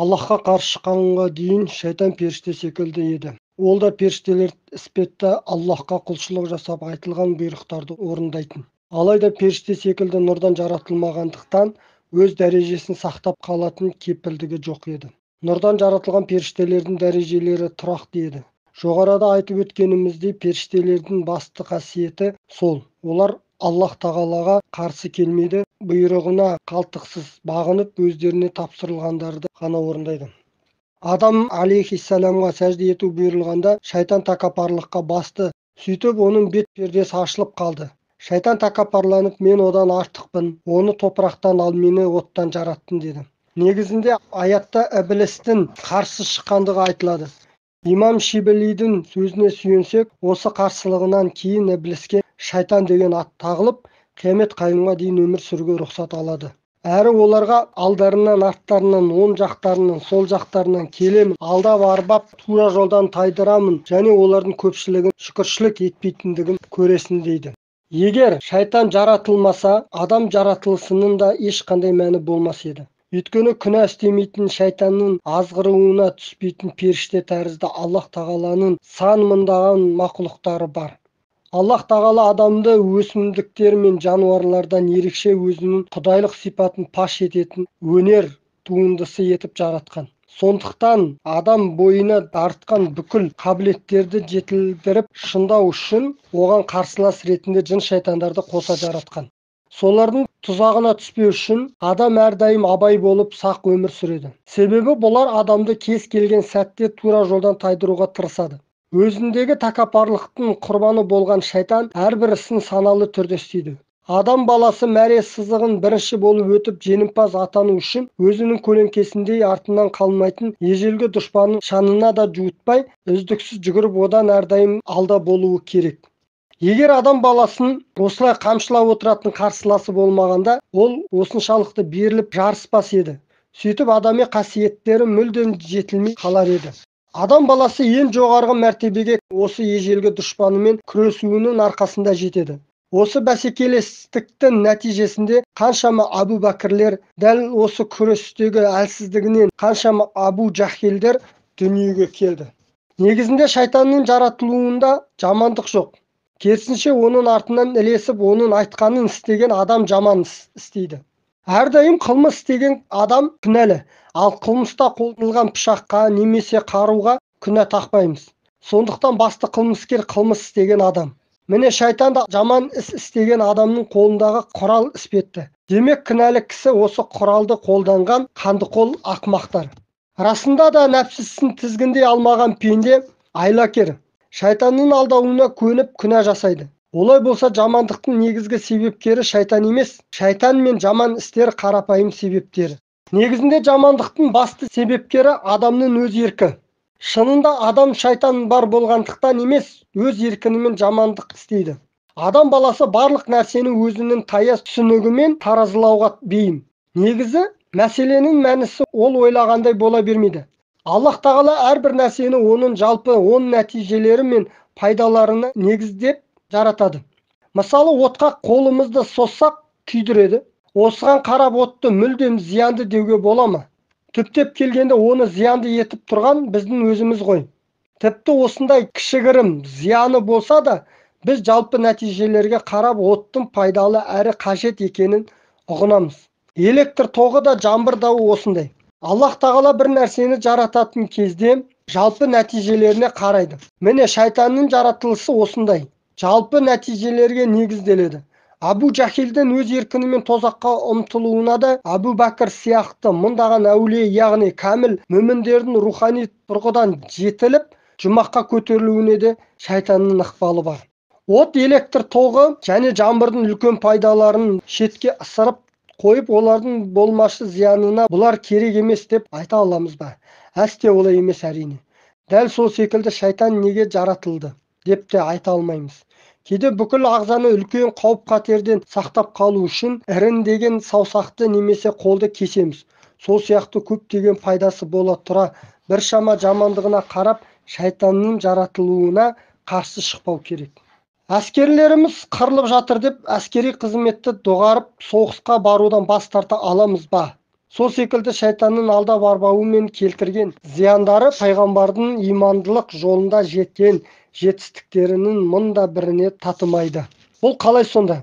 Аллахқа қарсы шыққанға дейін шайтан періште секілді еді. Ол да періштелер іспетті Аллахқа құлшылық жасап айтылған бұйрықтарды орындайтын. Алайда періште секілді нұрдан жаратылмағандықтан өз дәрежесін сақтап қалатын кепілдігі жоқ еді. Нұрдан жаратылған періштелердің дәрежелері тұрақты еді. Жоғарыда айтып өткеніміздей, періштелердің басты қасиеті сол: олар Аллах тағалаға қарсы келмейді, бұйрығына қалтықсыз бағынып, өздеріне тапсырылғандарды ғана орындайды. Адам алейхиссаламға сәжде ету бұйырылғанда, шайтан тәкаппарлыққа басты. Сөйтіп, оның бет пердесі ашылып қалды. Шайтан тәкаппарланып, мен одан артықпын, оны топырақтан, ал мені оттан жараттың деді. Негізінде аятта іблістің қарсы шыққандығы айтылады. Имам Шибелидің сөзіне сүйенсек, осы қарсылығынан кейін ібліске шайтан деген ат тағылып, қиямет қайымға дейін өмір сүруге рұқсат алады. Әрі оларға алдарынан, арттарынан, оң жақтарынан, сол жақтарынан келемін, алдап арбап, тура жолдан тайдырамын, және олардың көпшілігін шүкіршілік етпейтіндігін көресің дейді. Егер шайтан жаратылмаса, адам жаратылысының да ешқандай мәні болмас еді. Өйткені күнә істемейтін, шайтанның азғыруына түспейтін періште тәрізді Аллах тағаланың сан мыңдаған мақұлықтары бар. Аллах тағала адамды өсімдіктер мен жануарлардан ерекше өзінің құдайлық сипатын паш ететін өнер туындысы етіп жаратқан. Сондықтан адам бойына артқан бүкіл қабілеттерді жетілдіріп шыңдау үшін оған қарсылас ретінде жын шайтандарды қоса жаратқан. Солардың тұзағына түспеу үшін адам әрдайым абай болып сақ өмір сүреді. Себебі бұлар адамды кез келген сәтте тура жолдан тайдыруға тырысады. Өзіндегі тәкаппарлықтың құрбаны болған шайтан әрбір ісін саналы түрде істейді. Адам баласы мәре сызығын бірінші болып өтіп жеңімпаз атану үшін өзінің көлеңкесіндей артынан қалмайтын ежелгі дұшпанын шанына да жуытпай, үздіксіз жүгіріп одан әрдайым алда болуы керек. Егер адам баласын осылай қамшылап отыратын қарсыласы болмағанда, ол осыншалықты беріліп жарыспас еді. Сөйтіп адами қасиеттері мүлдем жетілмей қалар еді. Адам баласы ең жоғарғы мәртебеге осы ежелгі дұшпанымен күресуінің арқасында жетеді. Осы бәсекелестіктің нәтижесінде қаншама Абу Бәкірлер, дәл осы күрестегі әлсіздігінен қаншама Абу Жахилдер дүниеге келді. Негізінде шайтанның жаратылуында жамандық жоқ. Керісінше оның артынан ілесіп, оның айтқанын істеген адам жаман істейді. Әрдайым қылмыс істеген адам күнәлі, ал қылмыста қолданылған пышаққа немесе қаруға күнә тақпаймыз. Сондықтан басты қылмыскер қылмыс істеген адам. Міне шайтан да жаман іс істеген адамның қолындағы құрал іспетті. Демек күнәлі кісі осы құралды қолданған қандықол ақымақтар. Расында да нәпсісін тізгіндей алмаған пенде айлакер. Шайтанның алдауына көніп күнә жасайды. Олай болса жамандықтың негізгі себепкері шайтан емес, шайтан мен жаман істер қарапайым себептері. Негізінде жамандықтың басты себепкері адамның өз еркі. Шынында адам шайтан бар болғандықтан емес, өз еркінімен жамандық істейді. Адам баласы барлық нәрсені өзінің таяз түсінігімен таразылауға бейім. Негізі мәселенің мәнісі ол ойлағандай бола бермейді. Аллах тағала әрбір нәрсені оның жалпы оң нәтижелері мен пайдаларына негіздеп жаратады. Мысалы, отқа қолымызды соссақ күйдіреді. Осыған қарап отты мүлдем зиянды деуге бола ма? Түптеп келгенде оны зиянды етіп тұрған біздің өзіміз ғой. Тіпті осындай кішігірім зияны болса да, біз жалпы нәтижелерге қарап оттың пайдалы әрі қажет екенін ұғынамыз. Электр тоғы да жаңбыр дауы осындай. Аллах тағала бір нәрсені жарататын кезде жалпы нәтижелеріне қарайды. Міне шайтанның жаратылысы осындай. Жалпы нәтижелерге негізделеді. Абу Жахилдің өз еркінімен тозаққа ұмтылуына да Абу Бәкір сияқты мыңдаған әулие, яғни кәміл мүміндердің рухани тұрғыдан жетіліп, жұмаққа көтерілуіне де шайтанның ықпалы бар. От, электр тоғы және жаңбырдың үлкен пайдаларын шетке ысырып қойып, олардың болмашы зиянына бұлар керек емес деп айта аламыз ба? Әсте олай емес әрине. Дәл сол секілді шайтан неге жаратылды деп те айта алмаймыз. Кейде бүкіл ағзаны үлкен қауіп-қатерден сақтап қалу үшін іріңдеген саусақты немесе қолды кесеміз. Сол сияқты көптеген пайдасы бола тұра біршама жамандығына қарап шайтанның жаратылуына қарсы шықпау керек. Әскерлеріміз қырылып жатыр деп әскери қызметті доғарып соғысқа барудан бас тарта аламыз ба? Сол секілді шайтанның алдап арбауымен келтірген зияндары пайғамбардың имандылық жолында жеткен жетістіктерінің мында біріне татымайды. Бұл қалай сонда?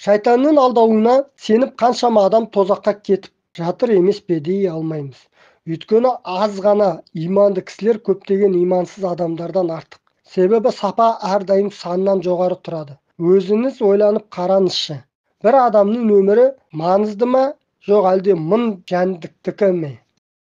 Шайтанның алдауына сеніп қаншама адам тозаққа кетіп жатыр емес пе дей алмаймыз. Өйткені аз ғана иманды кісілер көптеген имансыз адамдардан артық. Себебі сапа әрдайым саннан жоғары тұрады. Өзіңіз ойланып қараңызшы. Бір адамның өмірі маңызды ма, жоқ әлде мың жәндіктікі ме?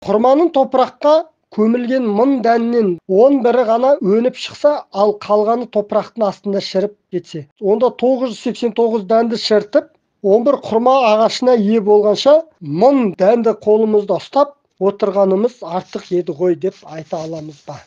Құрманың топыраққа көмілген мың дәннен 11-і ғана өніп шықса, ал қалғаны топырақтың астында шіріп кетсе, онда 989 дәнді шіртіп, 11 құрма ағашына ие болғанша, 1000 дәнді қолымызда ұстап отырғанымыз артық еді ғой деп айта аламыз ба?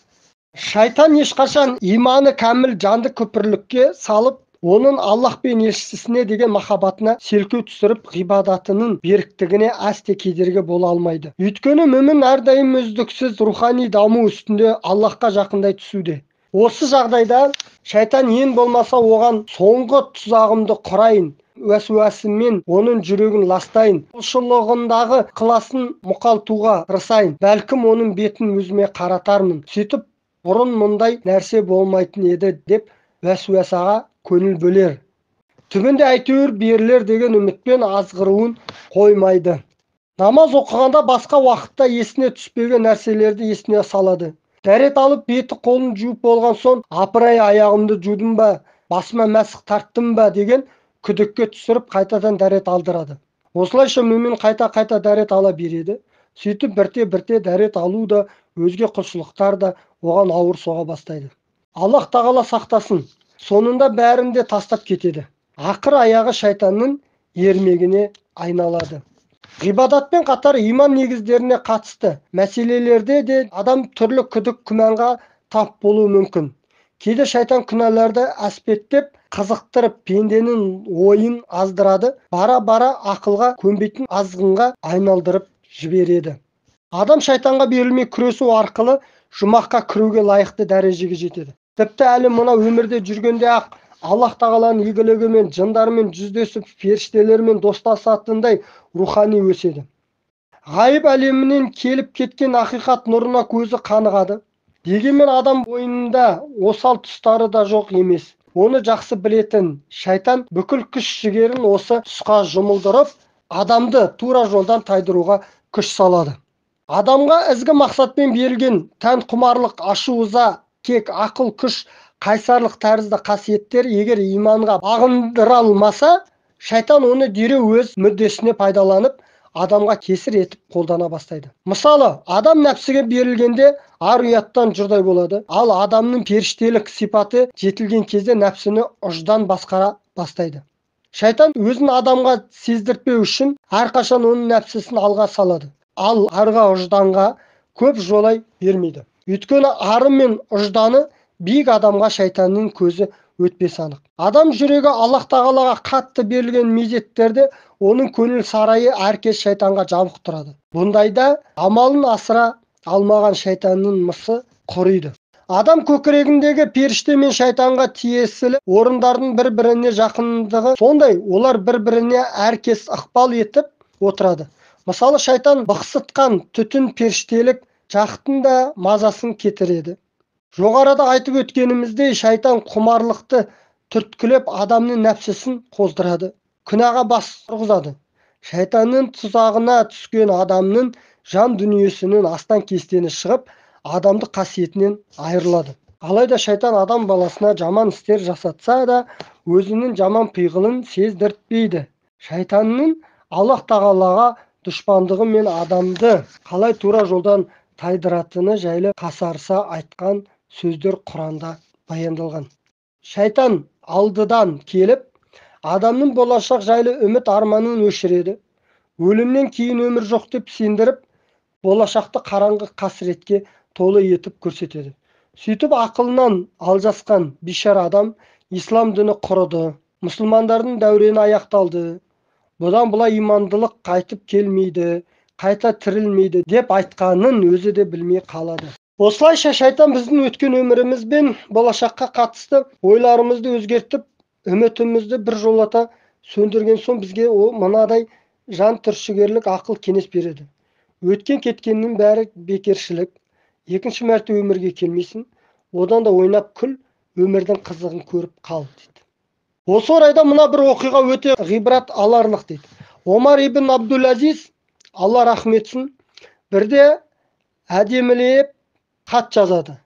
Шайтан ешқашан иманы кәміл жанды күпірлікке салып, оның Аллах пен елшісіне деген махаббатына селкеу түсіріп, ғибадатының беріктігіне әсте кедергі бола алмайды. Өйткені мүмін әрдайым үздіксіз рухани даму үстінде Аллахқа жақындай түсуде. Осы жағдайда шайтан ең болмаса оған соңғы тұзағымды құрайын, уәсуәсімен оның жүрегін ластайын, құлшылығындағы ықыласын мұқалтуға тырысайын, бәлкім оның бетін өзіме қаратармын, сөйтіп бұрын мұндай нәрсе болмайтын еді деп уәсуәсаға көңіл бөлер. Түбінде әйтеуір берілер деген үмітпен азғыруын қоймайды. Намаз оқығанда басқа уақытта есіне түспеген нәрселерді есіне салады. Дәрет алып беті қолын жуып болған соң, апырай аяғымды жудым ба, басыма мәсіх тарттым ба деген күдікке түсіріп қайтадан дәрет алдырады. Осылайша мүмин қайта-қайта дәрет ала береді. Сөйтіп бірте-бірте дәрет алу да, өзге құлшылықтар да оған ауыр соға бастайды. Аллах тағала сақтасын. Сонында бәрінде тастап кетеді. Ақыр аяғы шайтанның ермегіне айналады. Ғибадатпен қатар иман негіздеріне қатысты мәселелерде де адам түрлі күдік күмәнға тап болуы мүмкін. Кейде шайтан күнәларды әспеттеп, қызықтырып, пенденің ойын аздырады, бара-бара ақылға көнбейтін азғынға айналдырып жібереді. Адам шайтанға берілмей күресу арқылы жұмаққа кіруге лайықты дәрежеге жетеді. Тіпті әлі мына өмірде жүргенде ақ Аллах тағаланың игілігімен, жындармен жүздесіп, періштелермен достасатындай рухани өседі. Ғайып әлемінен келіп кеткен ақиқат нұрына көзі қанығады. Дегенмен адам бойында осал тұстары да жоқ емес. Оны жақсы білетін шайтан бүкіл күш-жігерін осы тұсқа жұмылдырып, адамды тура жолдан тайдыруға күш салады. Адамға ізгі мақсатпен берілген тән құмарлық, ашу-ыза, кек, ақыл, күш, қайсарлық тәрізді қасиеттер егер иманға бағындыра алмаса, шайтан оны дереу өз мүддесіне пайдаланып, адамға кесір етіп қолдана бастайды. Мысалы, адам нәпсіге берілгенде ар-ұяттан жұрдай болады, ал адамның періштелік сипаты жетілген кезде нәпсіні ұждан басқара бастайды. Шайтан өзін адамға сездіртпеу үшін әрқашан оның нәпсісін алға салады, ал арға ұжданға көп жолай бермейді. Өйткені ары мен ұжданы биік адамға шайтанның көзі өтпес анық. Адам жүрегі Аллах тағалаға қатты берілген мезеттерде оның көңіл сарайы әркез шайтанға жабық тұрады. Бұндайда амалын асыра алмаған шайтанның мысы құриды. Адам көкірегіндегі періште мен шайтанға тиесілі орындардың бір-біріне жақындығы сондай, олар бір-біріне әркез ықпал етіп отырады. Мысалы, шайтан бықсытқан түтін періштелік жақтың да мазасын кетіреді. Жоғарыда айтып өткеніміздей, шайтан құмарлықты түрткілеп адамның нәпсісін қоздырады, күнәға бас ұрғызады. Шайтанның тұзағына түскен адамның жан дүниесінің астан кестені шығып, адамдық қасиетінен айырылады. Алайда шайтан адам баласына жаман істер жасатса да, өзінің жаман пиғылын сездіртпейді. Шайтанның Аллах тағалаға дұшпандығы мен адамды қалай тура жолдан тайдыратыны жайлы қасарыса айтқан сөздер Құранда баяндалған. Шайтан алдыдан келіп, адамның болашақ жайлы үміт арманын өшіреді. Өлімнен кейін өмір жоқ деп сендіріп, болашақты қараңғы қасіретке толы етіп көрсетеді. Сөйтіп ақылынан алжасқан бишара адам ислам діні құрыды, мұсылмандардың дәурені аяқталды, бұдан бұлай имандылық қайтып келмейді, қайта тірілмейді деп айтқанын өзі де білмей қалады. Осылайша шайтан біздің өткен өміріміз бен болашаққа қатысты ойларымызды өзгертіп, үмітімізді бір жолата сөндірген соң бізге мынадай жан түршігерлік ақыл кеңес береді. Өткен кеткеннің бәрі бекершілік. Екінші мәрте өмірге келмейсің. Одан да ойнап күл, өмірдің қызығын көріп қал дейді. Осы орайда мына бір оқиға өте ғибрат аларлық дейді. Омар ибн Абдул-Азиз, Алла рахмет етсін, бірде әдемілеп хат жазады.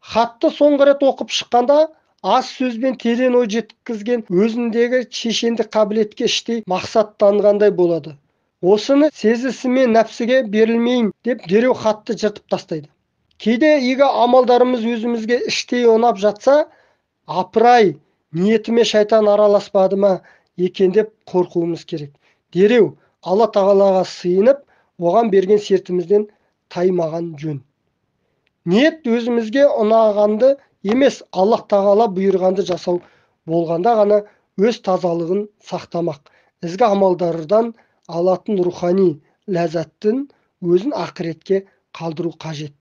Хатты соңғы рет оқып шыққанда аз сөзбен терең ой жеткізген, өзіндегі шешендік қабілетке іштей мақсаттанғандай болады. Осыны сезісімен нәпсіге берілмейін деп дереу хатты жыртып тастайды. Кейде игі амалдарымыз өзімізге іштей ұнап жатса, апырай, ниетіме шайтан араласпады ма екен деп қорқуымыз керек. Дереу Алла тағалаға сыйынып, оған берген сертімізден таймаған жөн. Ниет өзімізге ұнағанды емес, Аллах тағала бұйырғанды жасау болғанда ғана өз тазалығын сақтамақ. Ізгі амалдардан алатын рухани ләззаттың өзін ақыретке қалдыру қажет.